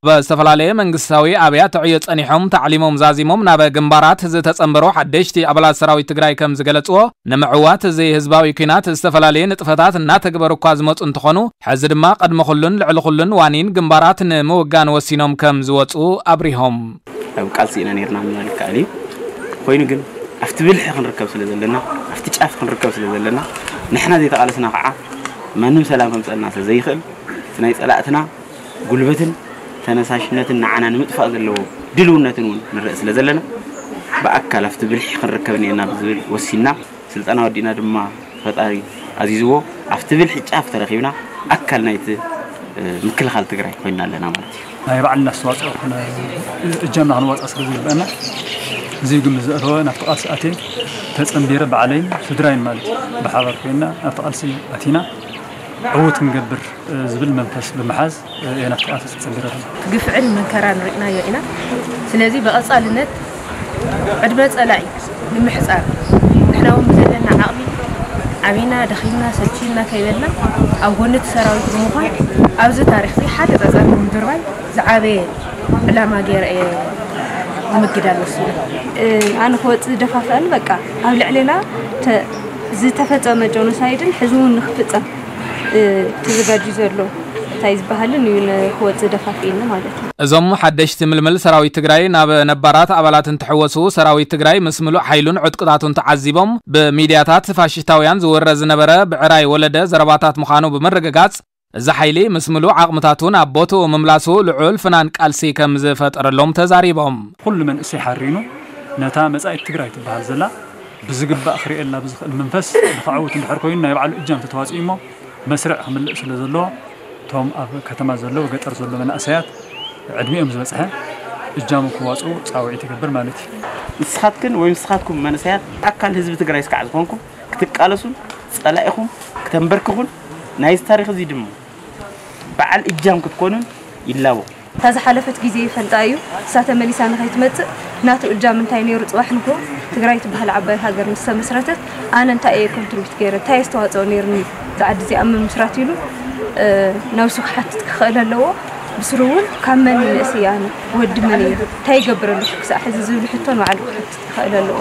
ብዝተፈላለየ መንግስታዊ ኣብያተ ዕዮ ጸኒሖም ታዕሊሞም ዛዚሞም ናብ ግንባራት ዝተጸንበሩ ሓደሽቲ ኣባላት ሰራዊት ትግራይ ከም ዝገለጽዎ፣ ንምዕዋት እዚ ህዝባዊ ኲናት ዝተፈላለየ ንጥፈታት እናተግበሩ እኳ ዝመጹ እንትኾኑ፣ ሕዚ ድማ ቅድሚ ኩሉን ልዕሊ ኩሉን ዋኒን ግንባራት ንምውጋን ወሲኖም ከም ዝወጹ ኣብሪሆም። ኣብ ቃልሲ ኢና ነርና ምባል ይከኣል እዩ። ኮይኑ ግን ኣብቲ ብልሒ ክንርከብ ስለ ዘለና፣ ኣብቲ ጫፍ ክንርከብ ስለ ዘለና፣ ንሕና ዘይተቓለስና ከዓ ማንም ሰላም ከምፀልና ስለ ዘይኽእል፣ እቲ ናይ ፀላእትና ጉልበትን ተነሳሽነትን ንዓና ንምጥፋእ ዘለዎ ድልውነትን እውን ንርኢ ስለ ዘለና፣ ብኣካል ኣብቲ ብልሒ ክንርከብ እኒኤና ብዝብል ወሲንና፣ ስልጠና ወዲእና ድማ ፈጣሪ ኣዚዝዎ ኣብቲ ብልሒ ጫፍ ተረኺብና ኣካል ናይቲ ምክልኻል ትግራይ ኮይና ኣለና ማለት እዩ። ናይ ባዕልና ኣስተዋፅኦ እጃምና ክንዋፅእ ስለ ዝግበአና፣ እዚ ግምት ዘእተወ ናብቲ ቃልሲ ኣትየ ተፀንቢረ፣ ባዕለይን ስድራይን ማለት እዩ፣ ብሓባር ኮይና ናብቲ ቃልሲ ኣቲና ዕዉት ክንገብር ዝብል መንፈስ ብምሓዝ እየ ናብቲ ቃልሲ ተፀንቢረ ዘለኹ። ግፍዕን መከራን ርኢናዮ ኢና። ስለዚ ብቐፃልነት ዕድመ ፀላኢ ንምሕፃር ንሕና እውን ብዘለና ዓቕሚ ዓቢና ደኺምና ሰልችና ከይበልና ኣብ ጎኒ እቲ ሰራዊት ብምዃን ኣብዚ ታሪኽ እዚ ሓደ ፀፀር ንምድርባይ ዝዓበየ ዕላማ ገይረ እየ ንምግዳል ወሲነ። ኣነ ክወፅእ ዝደፋፍኣኒ በቃ ኣብ ልዕሌና ዝተፈፀመ ጆኖሳይድን ሕዚ እውን ንክፍፀም ተዘጋጅዩ ዘሎ እንታይ ዝበሃልን እዩ ንክወፅእ ደፋፊእኒ ማለት እዩ። እዞም ሓደሽቲ ምልምል ሰራዊት ትግራይ ናብ ነባራት ኣባላት እንትሕወሱ፣ ሰራዊት ትግራይ ምስ ምሉእ ሓይሉን ዕጥቅታቱን ተዓዚቦም፣ ብሚድያታት ፋሽስታውያን ዝወረ ዝነበረ ብዕራይ ወለደ ዘረባታት ምዃኑ ብምርግጋጽ፣ እዚ ሓይሊ ምስ ምሉእ ዓቕምታቱ ናብ ቦትኡ ምምላሱ ልዑል ፍናን ቃልሲ ከም ዝፈጠረሎም ተዛሪቦም። ኩሉ መንእሰይ ሓሪኑ ነታ መጻኢት ትግራይ ትበሃል ዘላ ብዝግባእ ክርእየላ ብዝኽእል መንፈስ ንኸዕውት እንድሕር ኮይኑ ናይ ባዕሉ እጃም ተተዋፂኡ እሞ መስርዕ ክምልእ ስለ ዘለዎ እቶም ኣብ ከተማ ዘለዉ ገጠር ዘሎ መናእሰያት ዕድሚኦም ዝበፅሐ እጃሙ ክዋፅኡ ፃውዒት ይገብር ማለት እዩ። ንስኻትክን ወይ ንስኻትኩም መንእሰያት ኣካል ህዝቢ ትግራይ እስካዕ ዝኾንኩም ክትቃለሱን ፀላኢኹም ክተንበርክኹን ናይዚ ታሪኽ እዚ ድማ በዓል እጃም ክትኮኑን ይላቦ። እታ ዝሓለፈት ግዜ ይፈልጣ እዩ። እሳ ተመሊሳ ንኸይትመጽእ ናቱ እጃም እንታይ ነይሩ? ጽባሕ ንጎ ትግራይ ትበሃል ዓባይ ሃገር ምስ ተመስረተት ኣነ እንታይ እየ ኮንትሪቢት ገይረ? እንታይ ኣስተዋጽኦ ነይሩኒ? እዛ ዓዲ እዚኣ ኣብ ምምስራት ኢሉ ነብሱ ክሓትት ክኽእል ኣለዎ። ብስሩ እውን ካብ መን ይንእስ እየ ኣነ? ወዲ መን እየ? እንታይ ይገብር ኣለኹ ክሳዕ ሕዚ ዝብል ሕቶ ንባዕሉ ክሓትት ክኽእል ኣለዎ።